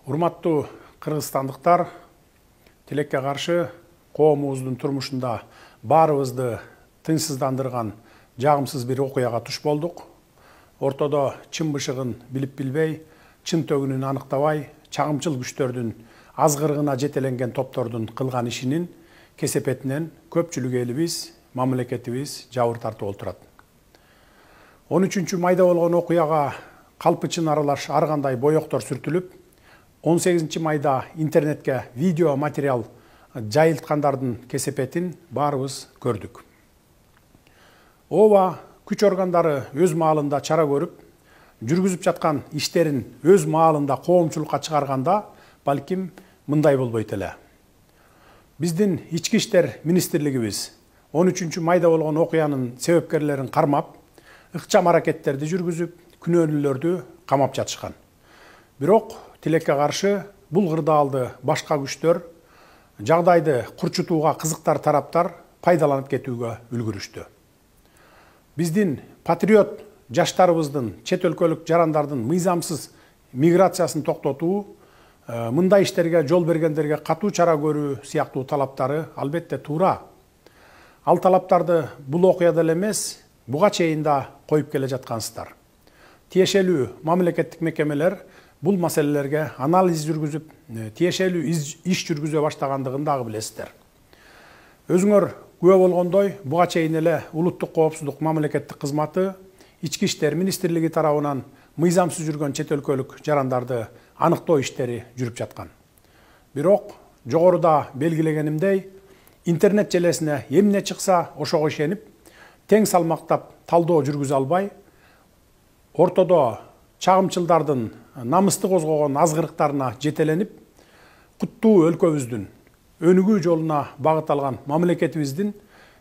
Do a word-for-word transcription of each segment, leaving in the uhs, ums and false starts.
Урматтуу кыргызстандыктар, тилекке каршы коомубуздун турмушунда баарыбызды тынчсыздандырган жагымсыз бир окуяга туш болдук. Ортодо чын бышыгын билип билбей, чын төгүнүн аныктабай, чагымчыл күчтөрдүн азгырыгына жетеленген топтордун кылган ишинин кесепетинен көпчүлүк элибиз, мамлекетибиз жабыр тартып отурат. он үчүнчү майда болгон окуяга калпычын аралаш ар кандай боектор сүртүлүп, он сегизинчи майда интернетке видео материал жайылткандардын кесепетин баарыбыз көрдүк. Ооба күч органдары өз маалында чара көрүп, жүргүзүп жаткан иштерин өз маалында коомчулукка чыгарганда, балким мындай болбойт эле. Биздин ички иштер министрлигибиз он үчүнчү майда болгон окуянын себепкерлерин кармап, ыкчам аракеттерди жүргүзүп, күнөөлүүлөрдү камап жатышкан. Бирок тилекке каршы бул кырдаалды башка күчтөр жагдайды курчутууга кызыктар тараптар пайдаланып кетүүгө үлгүрүштү. Биздин патриот жаштарыбыздын чет өлкөлүк жарандардын мыйзамсыз миграциясын токтотуу, мындай иштерге жол бергендерге катуу чара көрүү сыяктуу талаптары албетте туура. Ал талаптарды бул окуяда эле эмес, буга чейин да коюп келе жаткансыздар. Тиешелүү мамлекеттик мекемелер бул маселелерге анализ жүргүзүп, тиешелүү иш жүргүзө баштагандыгын дагы билесиздер. Өзүңөр күбө болгондой, буга чейин эле улуттук коопсуздук мамлекеттик кызматы ички иштер министрлиги тарабынан мыйзамсыз жүргөн чет өлкөлүк жарандарды аныктоо иштери жүрүп жаткан. Бирок жогоруда белгилегенимдей, интернет желесине эмне чыкса ошого ишенип, тең салмактап талдоо жүргүзө албай, ортодо чагымчылдардын намысты козгогон азгырыктарына жетеленип, куттуу өлкөбүздүн өнүгүү жолуна багыт алган мамлекетибиздин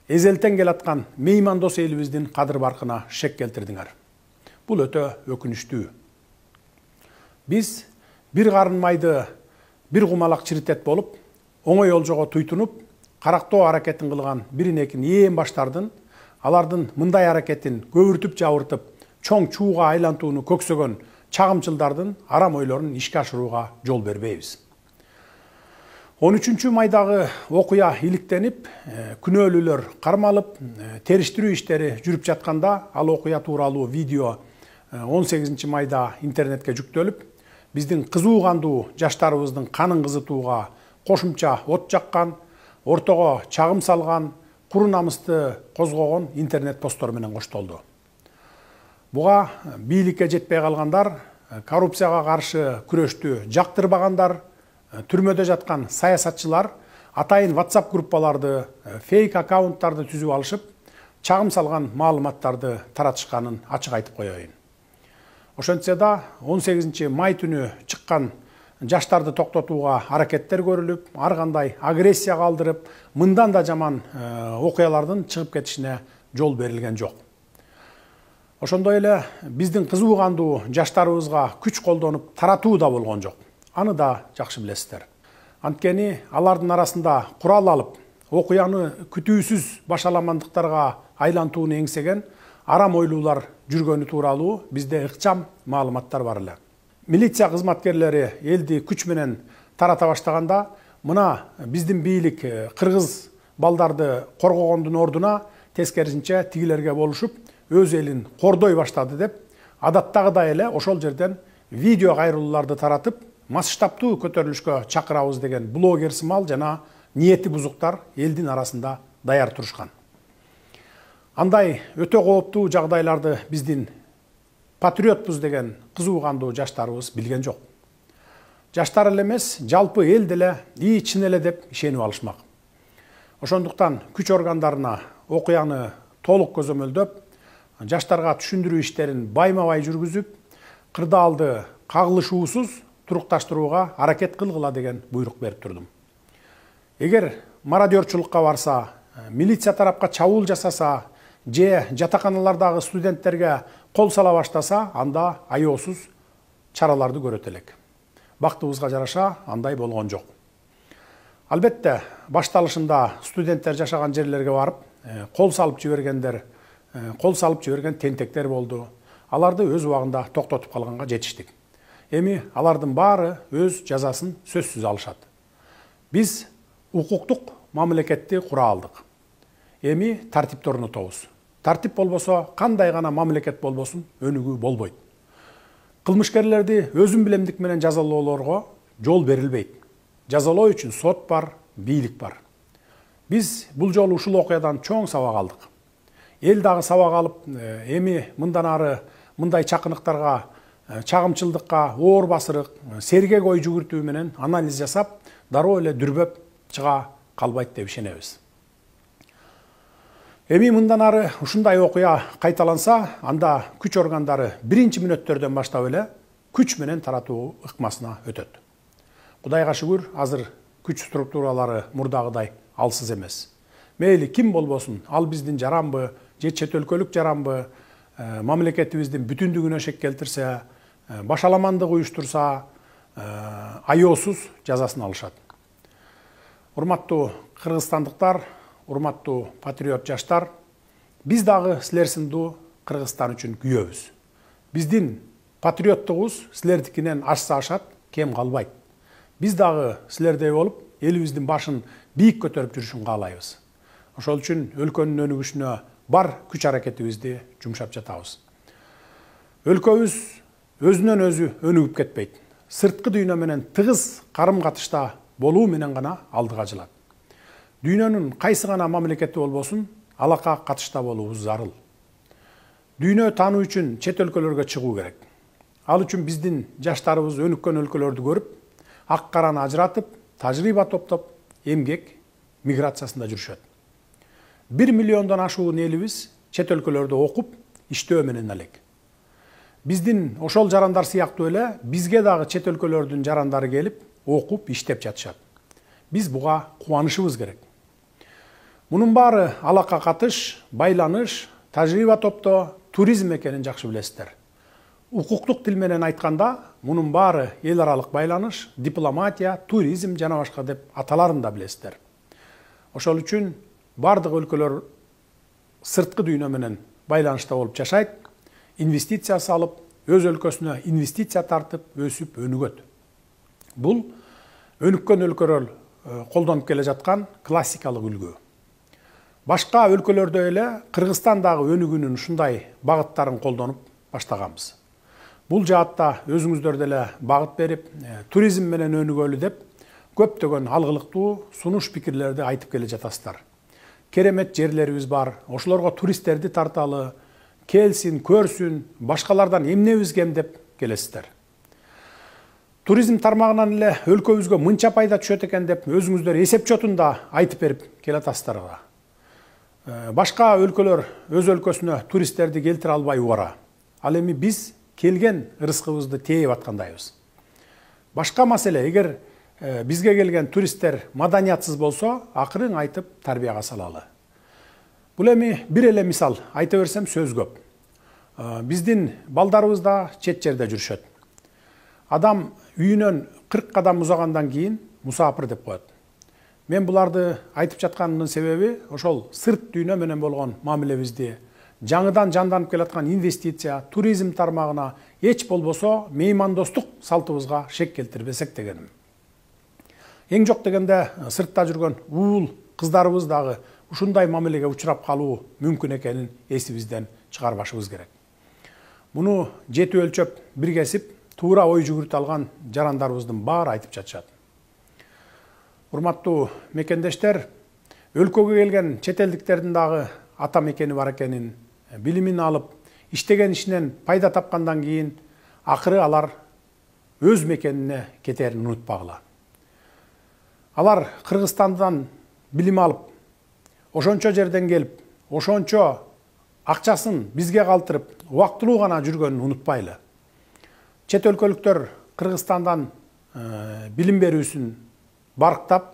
эзелтен келаткан меймандос элибиздин кадыр баркына шек келтирдиңер. Бул өтө өкүнүчтүү. Биз бир карын майды бир кумалак чиритет болуп, оңой олжого туйтунуп, карактоо аракетин кылган бирин-экин ээн баштардын, алардын мындай аракетин көбүртүп жабыртып, чоң чууга айлантууну көксөгөн чагымчылдардын арам ойлорун ишке ашырууга жол бербейбиз. он үчүнчү майдагы окуя иликтенип, күнөөлүүлөр кармалып, териштирүү иштери жүрүп жатканда, ал окуя тууралуу видео он сегизинчи майда интернетке жүктөлүп, биздин кызуу кандуу жаштарыбыздын канын кызытууга кошумча от жаккан, ортого чагым салган, куру намысты козгогон интернет посттор менен коштолду. Буга бийликке жетпей калгандар, коррупцияга каршы күрөштү жактырбагандар, түрмөдө жаткан саясатчылар атайын WhatsApp группаларды, фейк аккаунттарды түзүп алышып, чагым салган маалыматтарды таратышканын ачык айтып коеюн. Ошентсе да он сегизинчи май түнү чыккан жаштарды токтотууга аракеттер көрүлүп, ар кандай агрессия калтырып, мындан да жаман окуялардын чыгып кетишине жол берилген жок. Ошондой эле биздин кызуу кандуу жаштарыбызга күч колдонуп таратуу да болгон жок. Аны да жакшы билесиздер. Анткени алардын арасында курал алып, окуяны күтүүсүз башаламандыктарга айлантууну эңсеген арам ойлуулар жүргөнү тууралуу бизде ыкчам маалыматтар бар эле. Милиция кызматкерлери элди күч менен тарата баштаганда, мына биздин бийлик кыргыз балдарды коргогондун ордуна тескерисинче тигилерге болушуп, өз элин кордой баштады деп, адаттагыдай эле ошол жерден видео кайрылууларды таратып, масштабтуу көтөрүлүшкө чакырабыз деген блогер сымал жана ниети бузуктар элдин арасында даяр турушкан. Андай өтө кооптуу жагдайларды биздин патриотпуз деген кызуу кандуу жаштарыбыз билген жок. Жаштар эле эмес, жалпы эл деле ии чын эле деп ишенип алышмак. Ошондуктан күч органдарына окуяны толук көзөмөлдөп, жаштарга түшүндүрүү иштерин байма-бай жүргүзүп, кырдаалды кагылышуусуз турукташтырууга аракет кылгыла деген буйрук берип турдум. Эгер мародерчулукка барса, милиция тарапка чабуул жасаса, же жатаканалардагы студенттерге кол сала баштаса, анда аеосуз чараларды көрөт элек. Бактыбызга жараша андай болгон жок. Албетте, башталышында студенттер жашаган жерлерге барып, кол салып жибергендер, кол салып жиберген тентектер болду. Аларды өз убагында токтотуп калганга жетиштик. Эми алардын баары өз жазасын сөзсүз алышат. Биз укуктук мамлекетти кура алдык. Эми тартипти орнотобуз. Тартип болбосо кандай гана мамлекет болбосун өнүгүү болбойт. Кылмышкерлерди өзүм билемдик менен жазалоолорго жол берилбейт. Жазалоо үчүн сот бар, бийлик бар. Биз бул жолу ушул окуядан чоң сабак алдык. Эл дагы сабак алып, эми мындан ары мындай чакыныктарга, чагымчылдыкка, оор басырык, сергек ой жүгүртүү менен анализ жасап, дароо эле дүрбөп чыга калбайт деп ишенебиз. Эми мындан ары ушундай окуя кайталанса, анда күч органдары биринчи мүнөттөрдөн баштап эле күч менен таратуу ыкмасына өтөт. Кудайга шүгүр, азыр күч структуралары мурдагыдай алсыз эмес. Мейли ким болбосун, ал биздин жаранбы, же чет өлкөлүк жаранбы, мамлекетибиздин бүтүндүгүнө шек келтирсе, башаламандык уюштурса, аяосуз жазасын алышат. Урматтуу кыргызстандыктар, урматтуу патриот жаштар, биз дагы силер сындуу Кыргызстан үчүн күйөбүз. Биздин патриоттугубуз силердикинен ашса ашат, кем калбайт. Биз дагы силердей болуп, элибиздин башын бийик көтөрүп жүрүшүн каалайбыз. Ошол үчүн өлкөнүн өнүгүшүнө бар күч аракетибизди жумшап жатабыз. Өлкөбүз өзүнөн өзү өнүгүп кетпейт. Сырткы дүйнө менен тыгыз карым-катышта болуу менен гана алдыга жылат. Дүйнөнүн кайсы гана мамлекети болбосун, алака катышта болуубуз зарыл. Дүйнө таануу үчүн чет өлкөлөргө чыгуу керек. Ал үчүн биздин жаштарыбыз өнүккөн өлкөлөрдү көрүп, ак караны ажыратып, тажрыйба топтоп, эмгек миграциясында жүрүшөт. Бир миллиондон ашуун элибиз чет өлкөлөрдө окуп, иштөө менен элек. Биздин ошол жарандар сыяктуу эле бизге дагы чет өлкөлөрдүн жарандары келип, окуп, иштеп жатышат. Биз буга кубанышыбыз керек. Мунун баары алака катыш, байланыш, тажрыйба топтоо, туризм экенин жакшы билесиздер. Укуктук тил менен айтканда, мунун баары эл аралык байланыш, дипломатия, туризм жана башка деп аталарын да билесиздер. Ошол үчүн бардык өлкөлөр сырткы дүйнө менен байланышта болуп жашайт, инвестиция салып, өз өлкөсүнө инвестиция тартып, өсүп, өнүгөт. Бул өнүккөн өлкөлөр колдонуп келе жаткан классикалык үлгү. Башка өлкөлөрдө эле Кыргызстан дагы өнүгүүнүн ушундай багыттарын колдонуп баштаганбыз. Бул жаатта өзүңүздөр деле багыт берип, туризм менен өнүгөлү деп көптөгөн алгылыктуу сунуш пикирлерди айтып келе жатасыздар. Керемет жерлерибиз бар, ошолорго туристтерди тарталы, келсин, көрсүн, башкалардан эмнебиз кем деп келесиздер. Туризм тармагынан эле өлкөбүзгө мынча пайда түшөт экен деп өзүңүздөр эсеп чотунда айтып берип келатасыздар. Башка өлкөлөр өз өлкөсүнө туристтерди келтире албай убара. Ал эми биз келген ырыскыбызды тээп аткандайбыз. Башка маселе, эгер бизге келген туристтер маданиятсыз болсо, акырын айтып тарбияга салалы. Бул эми бир эле мисал айта берсем сөз көп. Биздин балдарыбыз да чет жерде жүрүшөт. Адам үйүнөн кырк кадам узагандан кийин мусапыр деп коет. Мен буларды айтып жатканымдын себеби ошол сырт дүйнө менен болгон мамилебизди, жаңыдан жанданып келаткан инвестиция, туризм тармагына эч болбосо меймандостук салтыбызга шек келтирбесек дегеним. Эң жок дегенде сыртта жүргөн уул кыздарыбыз дагы ушундай мамилеге учурап калуу мүмкүн экенин эсибизден чыгарбашыбыз керек. Муну жети өлчөп, бир кесип, туура ой жүгүртө алган жарандарыбыздын баары айтып жатышат. Урматтуу мекендештер, өлкөгө келген чет элдиктердин дагы ата мекени бар экенин, билимин алып, иштеген ишинен пайда тапкандан кийин акыры алар өз мекенине кетерин унутпагыла. Алар Кыргызстандан билим алып, ошончо жерден келип, ошончо акчасын бизге калтырып, убактылуу гана жүргөнүн унутпайлы. Чет өлкөлүктөр Кыргызстандан билим берүүсүн барктап,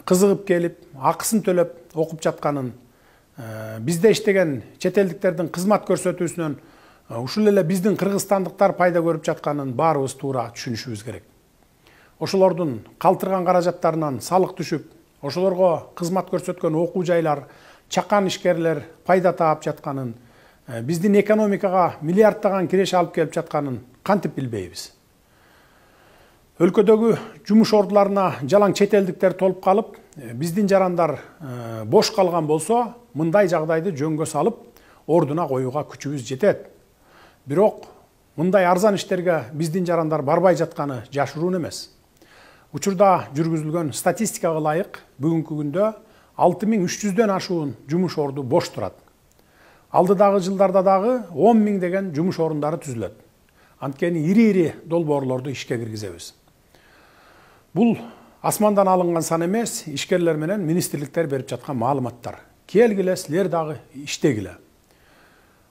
кызыгып келип, акысын төлөп окуп жатканын, бизде иштеген чет элдиктердин кызмат көрсөтүүсүнөн ушул эле биздин кыргызстандыктар пайда көрүп жатканын баарыбыз туура түшүнүшүбүз керек. Ошолордун калтырган каражаттарынан салык түшүп, ошолорго кызмат көрсөткөн окуу жайлар, чакан ишкерлер пайда таап жатканын, биздин экономикага миллиарддаган киреше алып келип жатканын кантип билбейбиз? Өлкөдөгү жумуш ордуларына жалаң чет элдиктер толуп калып, биздин жарандар бош калган болсо, мындай жагдайды жөнгө салып, ордуна коюуга күчүбүз жетет. Бирок мындай арзан иштерге биздин жарандар барбай жатканы жашыруун эмес. Учурда жүргүзүлгөн статистикага ылайык бүгүнкү күндө алты миң үч жүздөн ашуун жумуш орду бош турат. Алдыдагы жылдарда дагы он миң деген жумуш орундары түзүлөт. Анткени ири-ири долбоорлорду ишке киргизебиз. Бул асмандан алынган сан эмес, ишкерлер менен министрликтер берип жаткан маалыматтар. Келгиле, силер дагы иштегиле.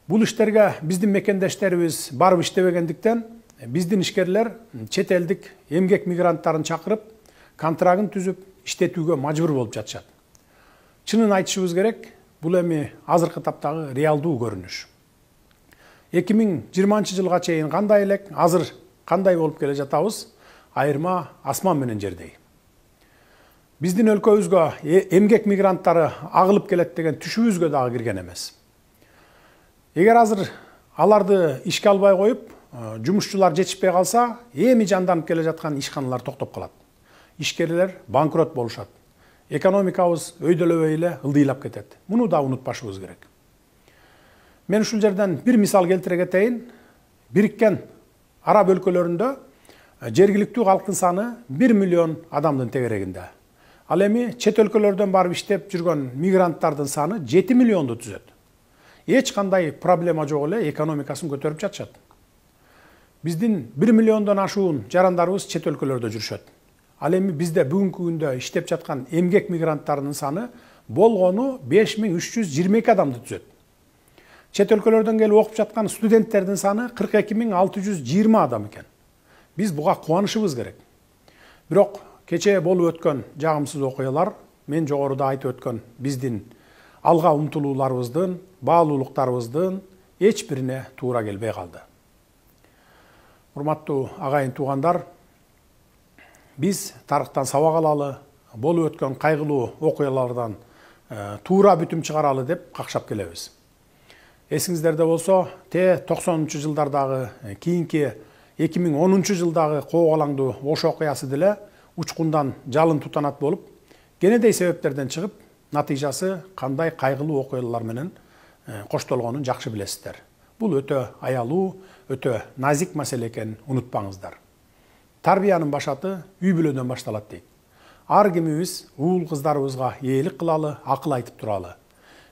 Бул иштерге биздин мекендештерибиз барып иштебегендиктен, биздин ишкерлер чет элдик эмгек мигранттарын чакырып, контрагын түзүп, иштетүүгө мажбур болуп жатышат. Чынын айтышыбыз керек, бул эми азыркы таптагы реалдуу көрүнүш. эки миң жыйырманчы жылга чейин кандай элек, азыр кандай болуп келе жатабыз, айырма асман менен жердей. Биздин өлкөбүзгө эмгек мигранттары агылып келет деген түшүбүзгө дагы кирген эмес. Эгер азыр аларды ишке албай коюп, жумушчулар жетишпей калса, эми жанданып келе жаткан ишканалар токтоп калат. Ишкерлер банкрот болушат. Экономикабыз өйдөлөбөй эле ылдыйлап кетет. Муну да унутпашыбыз керек. Мен ушул жерден бир мисал келтире кетейин. Бириккен Араб өлкөлөрүндө жергиликтүү калктын саны бир миллион адамдын тегерегинде. Ал эми чет өлкөлөрдөн барып иштеп жүргөн мигранттардын саны жети миллионду түзөт. Эч кандай проблема жок эле экономикасын көтөрүп жатышат. Биздин бир миллиондон ашуун жарандарыбыз чет өлкөлөрдө жүрүшөт. Ал эми бизде бүгүнкү күндө иштеп жаткан эмгек мигранттарынын саны болгону беш миң үч жүз жыйырма эки адамды түзөт. Чет өлкөлөрдөн келип окуп жаткан студенттердин саны кырк эки миң алты жүз жыйырма адам экен. Биз буга кубанышыбыз керек. Бирок кечээ болуп өткөн жагымсыз окуялар, мен жогоруда айтып өткөн биздин алга умтулууларыбыздын, баалуулуктарыбыздын эч бирине туура келбей калды. Урматтуу агайын туугандар, биз тарыхтан сабак алалы, болуп өткөн кайгылуу окуялардан туура бүтүм чыгаралы деп какшап келебиз. Эсиңиздерде болсо, те токсонунчу жылдардагы, кийинки эки миң онунчу жылдагы коогалаңдуу Ош окуясы деле учкундан жалын тутанат болуп, кенедей себептерден чыгып, натыйжасы кандай кайгылуу окуялар менен коштолгонун жакшы билесиздер. Бул өтө аялуу, өтө назик маселе экенин унутпаңыздар. Тарбиянын башаты үй бүлөдөн башталат дейт. Ар кимибиз уул кыздарыбызга ээлик кылалы, акыл айтып туралы.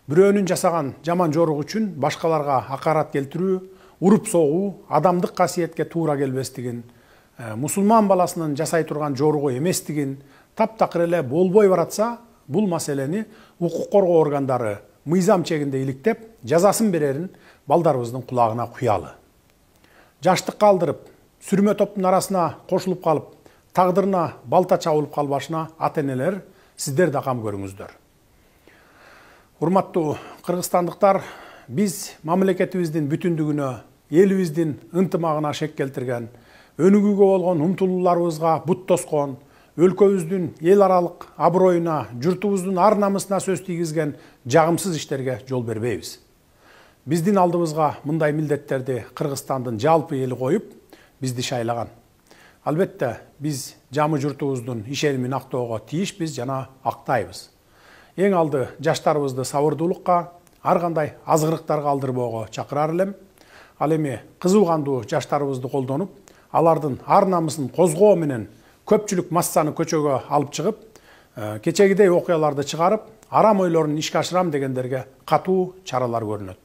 Бирөөнүн жасаган жаман жорук үчүн башкаларга акарат келтирүү, уруп согуу адамдык касиетке туура келбестигин, мусулман баласынын жасай турган жоругу эместигин таптакыр эле болбой баратса, бул маселени укук коргоо органдары мыйзам чегинде иликтеп, жазасын берерин балдарыбыздын кулагына куялы. Жаштыкка алдырып, сүрмө топтун арасына кошулуп калып, тагдырына балта чабылып калбашына ата-энелер сиздер да кам көрүңүздөр. Урматтуу кыргызстандыктар, биз мамлекетибиздин бүтүндүгүнө, элибиздин ынтымагына шек келтирген, өнүгүүгө болгон умтулууларыбызга бут тоскон, өлкөбүздүн эл аралык аброюна, журтубуздун ар намысына сөз тийгизген жагымсыз иштерге жол бербейбиз. Биздин алдыбызга мындай милдеттерди Кыргызстандын жалпы эли коюп, бизди шайлаган. Албетте, биз жамы журтубуздун ишенимин актоого тийишпиз жана актайбыз. Эң алды жаштарыбызды сабырдуулукка, ар кандай азгырыктарга алдырбоого чакырар элем. Ал эми кызуу кандуу жаштарыбызды колдонуп, алардын ар намысын козгоо менен көпчүлүк массаны көчөгө алып чыгып, кечегидей окуяларды чыгарып, арам ойлорун ишке ашырам дегендерге катуу чаралар көрүнөт.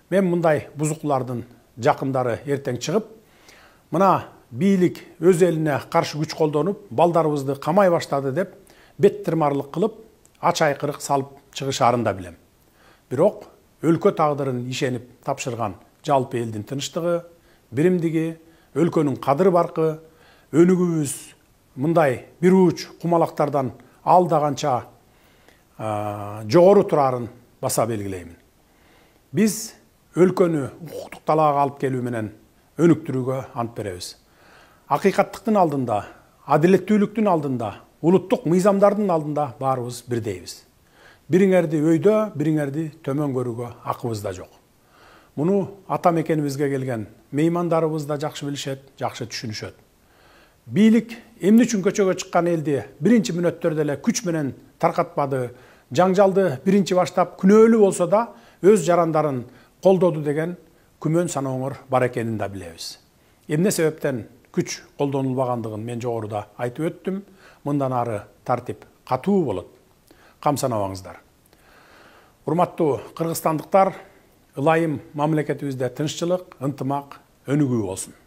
Мен мындай бузуклардын жакындары эртең чыгып, мына бийлик өз элине каршы күч колдонуп, балдарыбызды камай баштады деп бет тырмарлык кылып, ач айкырык салып чыгышарын да билем. Бирок өлкө тагдырын ишенип тапшырган жалпы элдин тынчтыгы, биримдиги, өлкөнүн кадыр баркы, өнүгүүбүз мындай бир уч кумалактардан алдаганча жогору турарын баса белгилеймин. Биз өлкөнү укуктук талаага алып келүү менен өнүктүрүүгө ант беребиз. Акыйкаттыктын алдында, адилеттүүлүктүн алдында, улуттук мыйзамдардын алдында баарыбыз бирдейбиз. Бириңерди өйдө, бириңерди төмөн көрүүгө акыбыз да жок. Муну ата мекенибизге келген меймандарыбыз да жакшы билишет, жакшы түшүнүшөт. бийлик эмне үчүн көчөгө чыккан элди биринчи мүнөттөрдө эле күч менен таркатпады, жаңжалды биринчи баштап күнөөлүү болсо да өз жарандарын колдоду деген күмөн санооңор бар экенин да билебиз. Эмне себептен күч колдонулбагандыгын мен жогоруда айтып өттүм. Мындан ары тартип катуу болот. Камсанабаңыздар. Урматтуу кыргызстандыктар, ылайым мамлекетибизде тынччылык, ынтымак өнүгүү болсун.